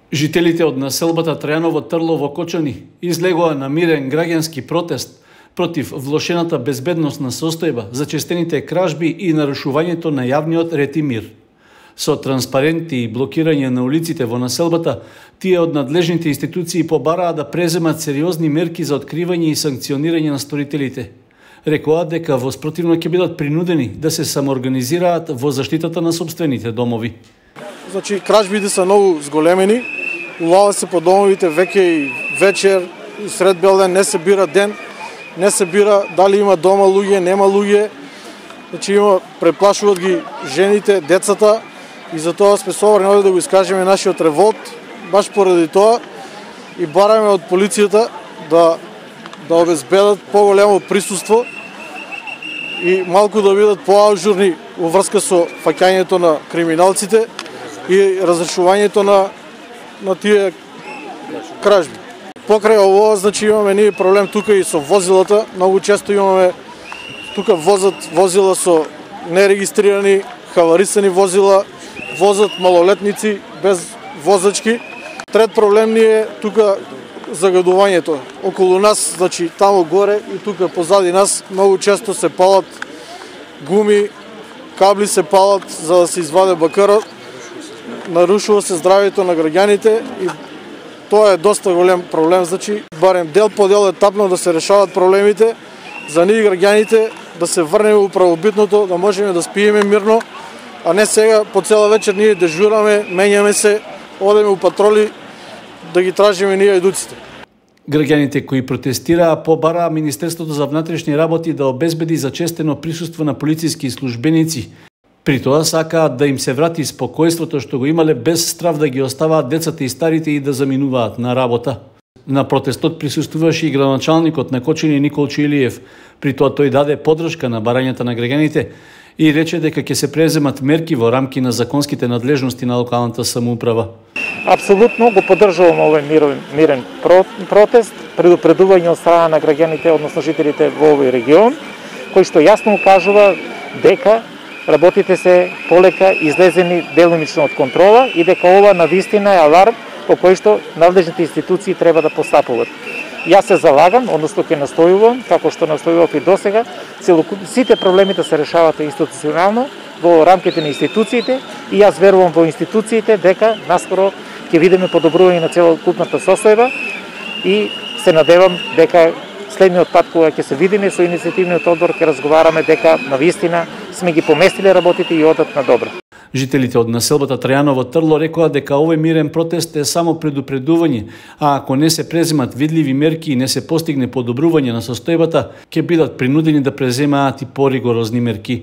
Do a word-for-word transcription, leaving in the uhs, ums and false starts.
Жителите од населбата Трајаново Трло во Кочани излегоа на мирен граѓански протест против влошената безбедносна состојба, зачестените кражби и нарушувањето на јавниот ред и мир. Со транспаренти и блокирање на улиците во населбата, тие од надлежните институции побараа да преземат сериозни мерки за откривање и санкционирање на сторителите. Рекоа дека во спротивно ќе бидат принудени да се самоорганизираат во заштитата на сопствените домови. Значи, кражбите се многу зголемени, улава се по домовите веќе и вечер, и сред бел ден, не се бира ден, не се бира дали има дома луѓе, нема луѓе. Значи, има, преплашуваат ги жените, децата, и за тоа сме собрани овде да го искажеме нашиот револт, баш поради тоа, и бараме од полицијата да, да обезбедат поголемо присуство и малку да бидат поажурни во врска со фаќањето на криминалците и разрешувањето на, на тие кражби. Покрај ово, значи имаме ние проблем тука и со возилата. Многу често имаме тука возат возила со нерегистрирани, хаварисани возила, возат малолетници без возачки. Трет проблем ни е тука загадувањето. Околу нас, значи тамо горе и тука позади нас, многу често се палат гуми, кабли се палат за да се изваде бакарот. Нарушува се здравјето на граѓаните и тоа е доста голем проблем, значи барем дел по дел етапно да се решават проблемите за ние граѓаните, да се врнеме у правобитното, да можеме да спиеме мирно, а не сега по цела вечер ние дежураме, менјаме се, одеме у патроли да ги тражиме ние едуците. Граѓаните кои протестираа побараа Министерството за внатрешни работи да обезбеди зачестено присуство на полициски службеници. При тоа сакаат да им се врати спокојството што го имале без страв да ги оставаат децата и старите и да заминуваат на работа. На протестот присуствуваше и градоначалникот на Кочани Николчо Илиев. При тоа тој даде поддршка на барањата на граѓаните и рече дека ќе се преземат мерки во рамки на законските надлежности на локалната самоуправа. Апсолутно го поддржувам овој мирен, мирен протест, предупредување од страна на граѓаните, односно жителите во овој регион, кој што јасно укажува дека работите се полека излезени делумично од контрола и дека ова навистина е аларм по кој што надлежните институции треба да постапуваат. Јас се залагам, односно ќе настојувам, како што настојував и досега, сите проблеми да се решаваат институционално во рамките на институциите и јас верувам во институциите дека наскоро ќе видиме подобрување на целокупната состојба и се надевам дека следниот пат кога ќе се видиме со иницијативниот одбор ќе разговараме дека навистина сме ги поместиле работите и одат на добро. Жителите од населбата Трајаново Трло рекоа дека овој мирен протест е само предупредување, а ако не се преземат видливи мерки и не се постигне подобрување на состојбата, ќе бидат принудени да преземаат и поригорозни мерки.